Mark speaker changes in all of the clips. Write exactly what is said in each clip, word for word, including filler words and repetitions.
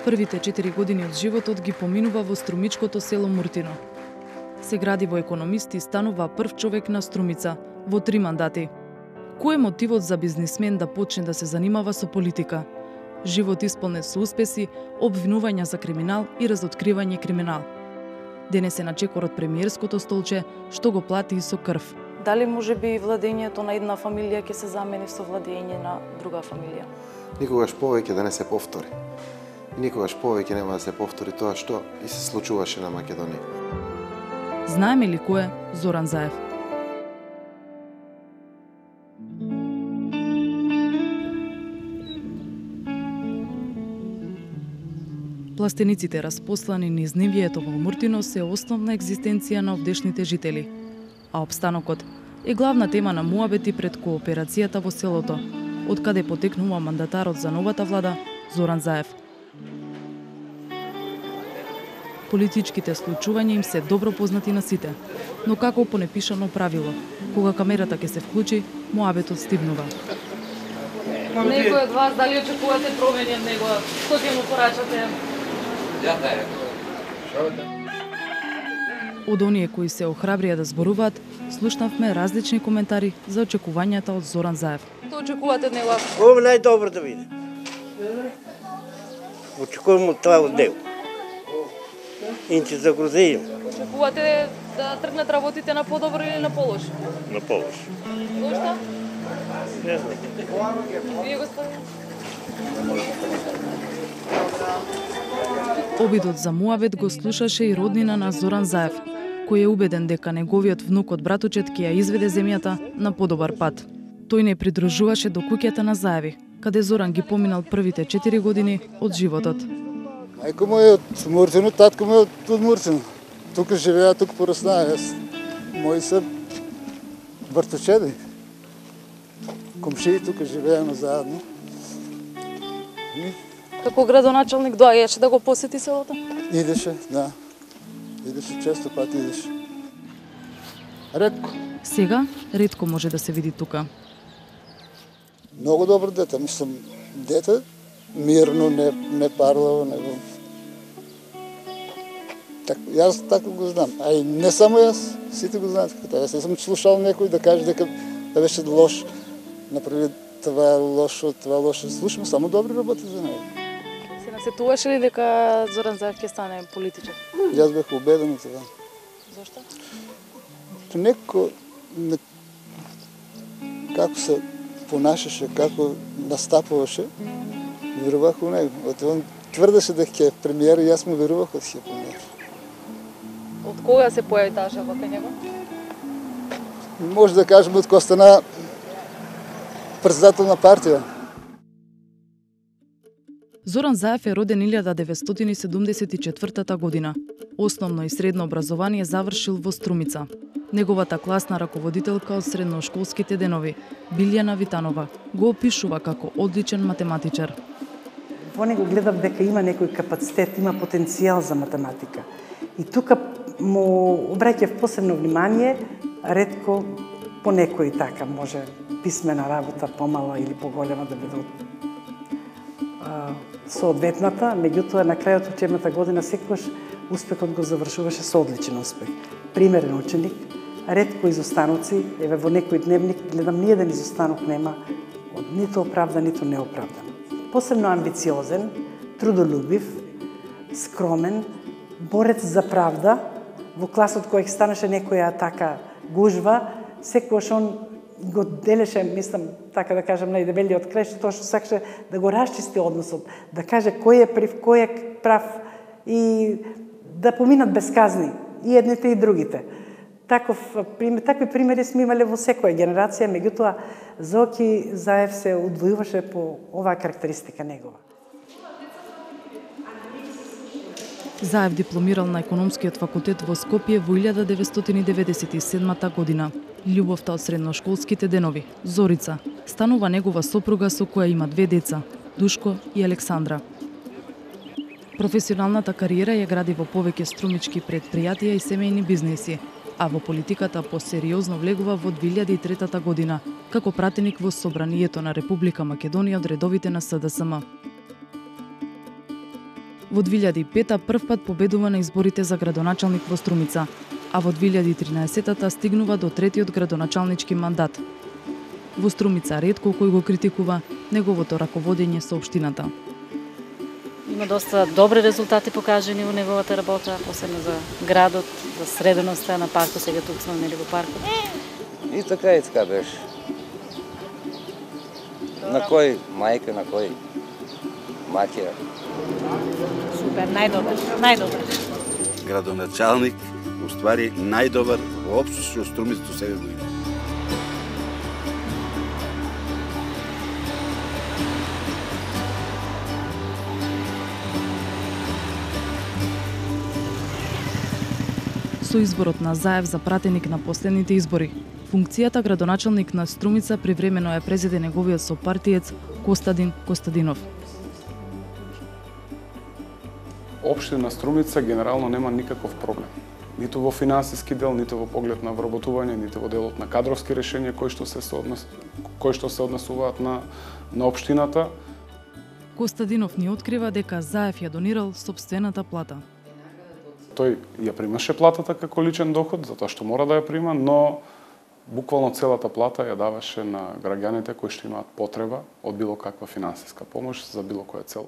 Speaker 1: Првите четири години од животот ги поминува во струмичкото село Муртино. Се гради во економист и станува прв човек на Струмица во три мандати. Кој е мотивот за бизнисмен да почне да се занимава со политика? Живот исполнет со успеси, обвинувања за криминал и разоткривање криминал. Денес е на чекор од премиерското столче, што го плати и со крв.
Speaker 2: Дали може би владењето на една фамилија ќе се замени со владење на друга фамилија?
Speaker 3: Никогаш повеќе да не се повтори. И никогаш повеќе нема да се повтори тоа што и се случуваше на Македонија.
Speaker 1: Знаеме ли кој е Зоран Заев? Пластениците распослани низ нивјето во Муртино се основна екзистенција на овдешните жители, а опстанокот е главна тема на муабети пред кооперацијата во селото, од каде потекнува мандатарот за новата влада Зоран Заев. Политичките случувања им се добро познати на сите, но како по непишано правило, кога камерата ќе се вклучи, муабетот стивнува.
Speaker 2: Некој од вас дали очекувате промени од него? Што ќе му порачате?
Speaker 1: Од оние кои се охрабрија да зборуваат, слушнавме различни коментари за очекувањата од Зоран Заев.
Speaker 2: Што очекувате од него?
Speaker 4: Ова најдобро да биде. Очекувам од това од него. Инче загрузејам.
Speaker 2: Очекувате да тргнат работите на подобро или на полошо?
Speaker 4: На полошо.
Speaker 2: Зошто?
Speaker 4: Не знам.
Speaker 2: Вие, господин?
Speaker 1: Обидот за муабет го слушаше и роднина на Зоран Заев, кој е убеден дека неговиот внук од братучет ќе ја изведе земјата на подобар пат. Тој не придружуваше до куќата на Заеви, каде Зоран ги поминал првите четири години од животот.
Speaker 5: Мајко му е од Муртино, татко му е од Муртино. Тука живеа, тука пораснаа. Мои се братучеди. Комшии тука живееме заедно.
Speaker 2: Како градоначалник доаѓаше да го посети селото?
Speaker 5: Идеше, да. Идеше често пати идеше. Ретко.
Speaker 1: Сега ретко може да се види тука.
Speaker 5: Многу добро дете, мислам, дете мирно, не, не парлаво, него. Так, јас така го знам. А и не само јас, сите го знаат како тоа. Јас не сум слушал некој да каже дека да беше лош, направи това лошо, това лошо. Слушаме само добри работи за него.
Speaker 2: Се насетуваше ли дека Зоран Заев ќе стане политичар?
Speaker 5: Јас бев убеден во това.
Speaker 2: Зошто?
Speaker 5: Некој не, како се понашаше, како настапуваше, верувах у него. Он тврдеше дека ќе е премиер и јас му верувах дека ќе е премиер.
Speaker 2: Од кога се појави таа желба кај него?
Speaker 5: Може да кажеме од кога стана председател на партија.
Speaker 1: Зоран Заев е роден илјада деветстотини седумдесет и четвртата година. Основно и средно образование завршил во Струмица. Неговата класна раководителка од средношколските денови, Билјана Витанова, го опишува како одличен математичар.
Speaker 6: Во него гледав дека има некој капацитет, има потенцијал за математика. И тука му обраќав посебно внимание, ретко по некој така може писмена работа помала или поголема да биде соодветната, меѓутоа на крајот од учебната година секогаш успехот го завршуваше со одличен успех. Примерен ученик, ретко изостаноци, еве во некој дневник гледам ниеден изостанок нема, ниту оправдан, ниту неоправдан. Посебно амбициозен, трудолюбив, скромен, борец за правда. Во класот кој станеше некоја така гужва, секогаш он го делеше, мислам, така да кажам, најдебелиот крај, тоа што сакаше да го расчисти односот, да каже кој е прив, кој е прав и да поминат без казни, и едните и другите. Таков, такви примери сме имале во секоја генерација, меѓутоа Зоки Заев се удвојуваше по оваа карактеристика негова.
Speaker 1: Заев дипломирал на економскиот факултет во Скопје во илјада деветстотини деветдесет и седмата година. Љубовта од средношколските денови, Зорица, станува негова сопруга со која има две деца, Душко и Александра. Професионалната кариера ја гради во повеќе струмички предпријатија и семејни бизнеси, а во политиката посериозно влегува во две илјади и третата година, како пратеник во Собранието на Република Македонија од редовите на СДСМ. Во две илјади и пета првпат победува на изборите за градоначалник во Струмица, а во две илјади и тринаесетта стигнува до третиот градоначалнички мандат. Во Струмица ретко кој го критикува неговото раководење со општината.
Speaker 7: Има доста добри резултати покажани во неговата работа, посебно за градот, за среденоста на паркот, сега тук сме нели во паркот.
Speaker 8: И така и така беше. На кој мајка, на кој маќера.
Speaker 7: Супер, најдобар, најдобар.
Speaker 9: Градоначалник, уствари најдобар воопшто што Струмица до сега го има.
Speaker 1: Со изборот на Заев за пратеник на последните избори, функцијата градоначалник на Струмица привремено ја презеде неговиот сопартиец Костадин Костадинов.
Speaker 10: Општина Струмица генерално нема никаков проблем. Ниту во финансиски дел, ниту во поглед на вработување, ниту во делот на кадровски решенија кои што се однес, кои што се однесуваат на на општината.
Speaker 1: Костадинов ни открива дека Заев ја донирал сопствената плата.
Speaker 10: Тој ја примаше платата како личен доход, затоа што мора да ја прима, но буквално целата плата ја даваше на граѓаните кои што имаат потреба од било каква финансиска помош за било која цел.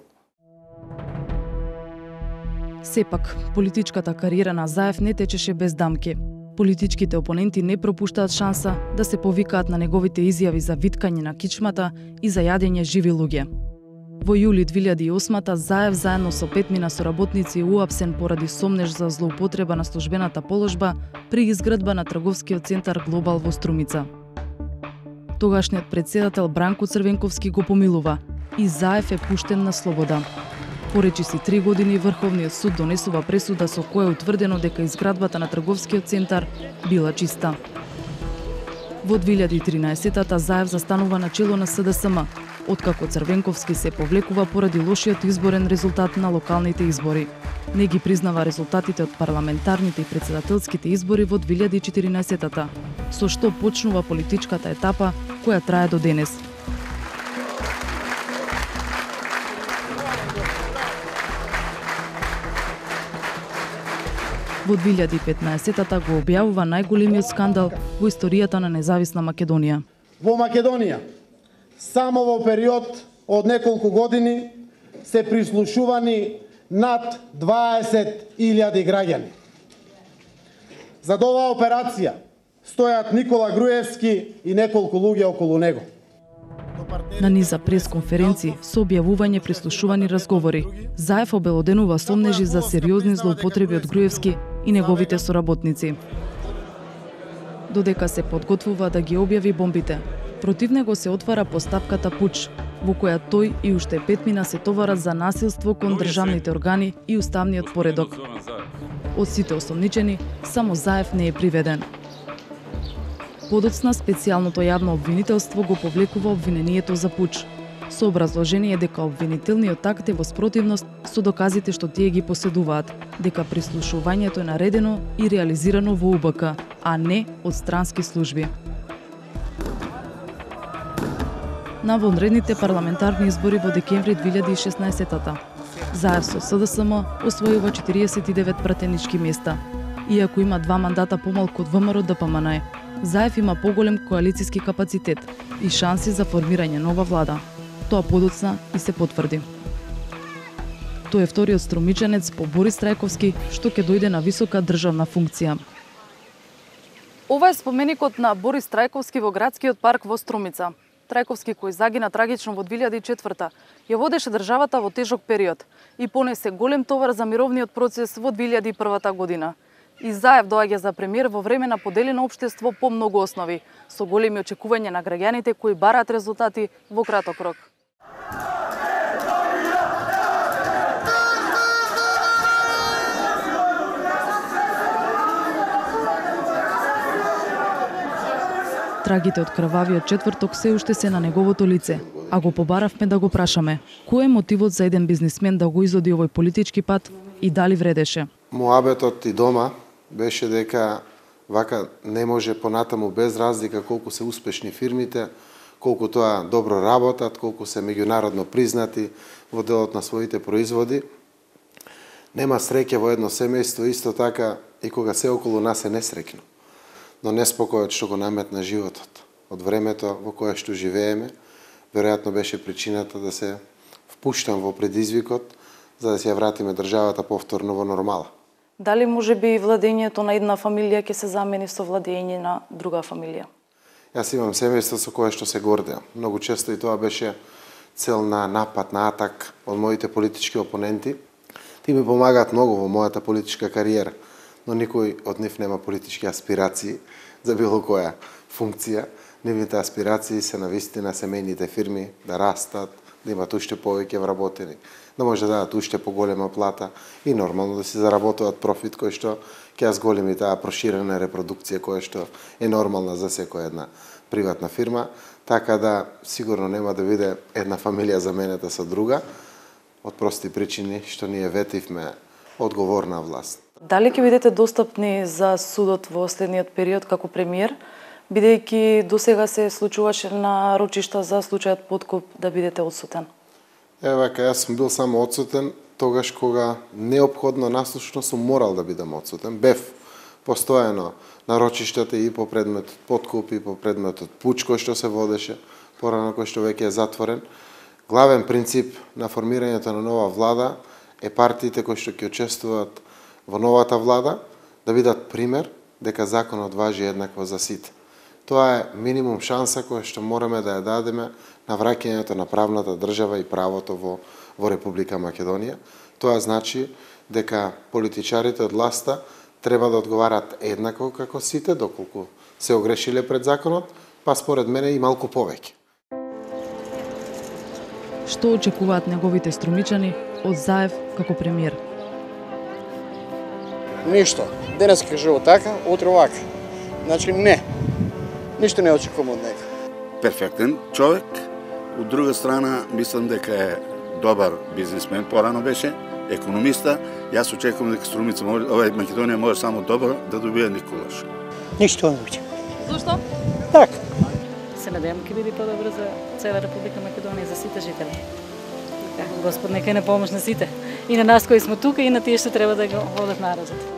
Speaker 1: Сепак, политичката кариера на Заев не течеше без дамки. Политичките опоненти не пропуштаат шанса да се повикаат на неговите изјави за виткање на кичмата и за јадење живи луѓе. Во јули две илјади и осма Заев заедно со петмина соработници уапсен поради сомнеж за злоупотреба на службената положба при изградба на трговскиот центар Глобал во Струмица. Тогашниот председател Бранко Црвенковски го помилува и Заев е пуштен на слобода. Поречи си три години Врховниот суд донесува пресуда со која е утврдено дека изградбата на трговскиот центар била чиста. Во две илјади и тринаесетта Заев застанува на чело на С Д С М, откако Црвенковски се повлекува поради лошиот изборен резултат на локалните избори. Не ги признава резултатите од парламентарните и председателските избори во две илјади и четиринаесетта, со што почнува политичката етапа која трае до денес. Во две илјади и петнаесетта го објавува најголемиот скандал во историјата на независна Македонија.
Speaker 11: Во Македонија, само во период од неколку години се прислушувани над дваесет илјади граѓани. За оваа операција стојат Никола Груевски и неколку луѓе околу него.
Speaker 1: На низа пресконференции со објавување прислушувани разговори, Заев обелоденува сомнежи за сериозни злоупотреби од Груевски и неговите соработници. Додека се подготвува да ги објави бомбите, против него се отвара постапката Пуч, во која тој и уште петмина се товарат за насилство кон државните органи и уставниот поредок. Од сите осомничени, само Заев не е приведен. Подоцна специјалното јавно обвинителство го повлекува обвинението за пуч, со образложение дека обвинителниот акт е во спротивност со доказите што тие ги поседуваат, дека прислушувањето е наредено и реализирано во У Б К, а не од странски служби. На вонредните парламентарни избори во декември две илјади и шеснаесетта Заев со С Д С М освојува четириесет и девет пратенички места, иако има два мандата помалку од В М Р Д П М Н Е. Заев има поголем коалициски капацитет и шанси за формирање нова влада. Тоа подоцна и се потврди. Тој е вториот струмичанец по Борис Трајковски што ќе дојде на висока државна функција.
Speaker 2: Ова е споменикот на Борис Трајковски во градскиот парк во Струмица. Трајковски, кој загина трагично во две илјади и четврта, ја водеше државата во тежок период и понесе голем товар за мировниот процес во две илјади и прва година. И Заев доаѓа за премиер во време на поделено општество по многу основи, со големи очекувања на граѓаните кои бараат резултати во краток рок.
Speaker 1: Трагите од крвавиот четврток се уште се на неговото лице, а го побаравме да го прашаме кој е мотивот за еден бизнисмен да го изоди овој политички пат и дали вредеше.
Speaker 3: Муабетот и дома беше дека вака не може понатаму без разлика колку се успешни фирмите, колку тоа добро работат, колку се меѓународно признати во делот на своите производи, Нема среќа во едно семејство, исто така и кога се околу нас е несреќно. Но неспокојот што го наметна животот од времето во кое што живееме, веројатно беше причината да се впуштам во предизвикот за да се ја вратиме државата повторно во нормала.
Speaker 2: Дали може би владењето на една фамилија ќе се замени со владење на друга фамилија?
Speaker 3: Јас имам семејство со кое што се гордеам. Многу често и тоа беше цел на напад, на атак од моите политички опоненти. Ти ми помагаат многу во мојата политичка кариера, но никој од нив нема политички аспирации за било која функција. Нивните аспирации се на вистина семејните фирми да растат, да имат уште повеќе вработени, да може да дадат уште поголема плата и нормално да си заработуваат профит кој што ќе ја зголеми таа проширена репродукција која што е нормална за секоја една приватна фирма, така да сигурно нема да биде една фамилија заменета со друга, од прости причини што ние ветивме одговорна власт.
Speaker 2: Дали ќе бидете достапни за судот во следниот период како премиер, бидејќи досега се случуваше на рочишта за случајот подкуп да бидете одсутен?
Speaker 3: Еве вака, јас сум бил само одсутен тогаш кога неопходно наслушно сум морал да бидам одсутен. Бев постојано на рочиштата и по предметот подкуп и по предметот пуч кој што се водеше, порано кој што веќе е затворен. Главен принцип на формирањето на нова влада е партиите кои што ќе учествуваат во новата влада да бидат пример дека законот важи еднакво за сите. Тоа е минимум шанса која што мораме да ја дадеме на враќањето на правната држава и правото во, во Република Македонија. Тоа значи дека политичарите од власта треба да одговарат еднакво како сите, доколку се огрешиле пред законот, па според мене и малку повеќе.
Speaker 1: Што очекуваат неговите струмичани од Заев како премиер?
Speaker 12: Ништо. Денес кажува така, утре вака. Значи не. Ништо не очекувам од него.
Speaker 9: Перфектен човек. Од друга страна, мислам дека е добар бизнисмен, порано беше, економиста. Јас очекувам дека Струмица, овај Македонија може само добро да добие Николаш.
Speaker 4: Ништо не учи.
Speaker 2: Зошто?
Speaker 4: Така.
Speaker 7: Се надевам ќе биде подобро за цела Република Македонија, за сите жители. Господ нека не помош на сите. И на нас кои сме тука, и на тие што треба да го водат народот.